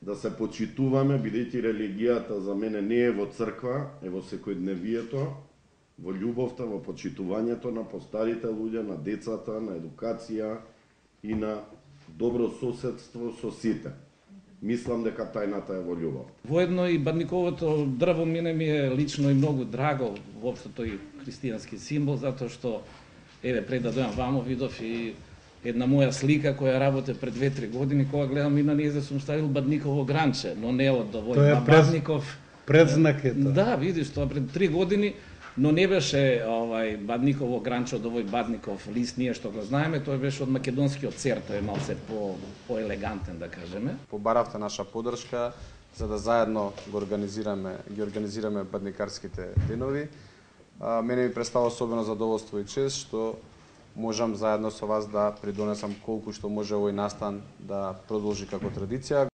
да се почитуваме, бидејќи религијата за мене не е во црква, е во секојдневието, во љубовта, во почитувањето на постарите луѓе, на децата, на едукација и на добро соседство со сите. Мислам дека тајната е во љубов. Воедно и бадниковото дрво мене ми е лично и многу драго, воопшто тој христијански символ, затоа што еве пред да дојам вамо видов и една моја слика која работе пред 2-3 години, кога гледам и на нејзе сум ставил бадниково гранче, но не од овој бадников. Предзнак е тоа. Да, видиш, тоа пред 3 години, но не беше бадниково гранче од овој бадников лист, ние што го знаеме, тој беше од македонскиот цер, тој е малце по-елегантен, да кажеме. Побаравте наша поддршка за да заедно ги организираме бадникарските денови. Мене ми представа особено задоволство и чест што можам заедно со вас да придонесам колку што може овој настан да продолжи како традиција.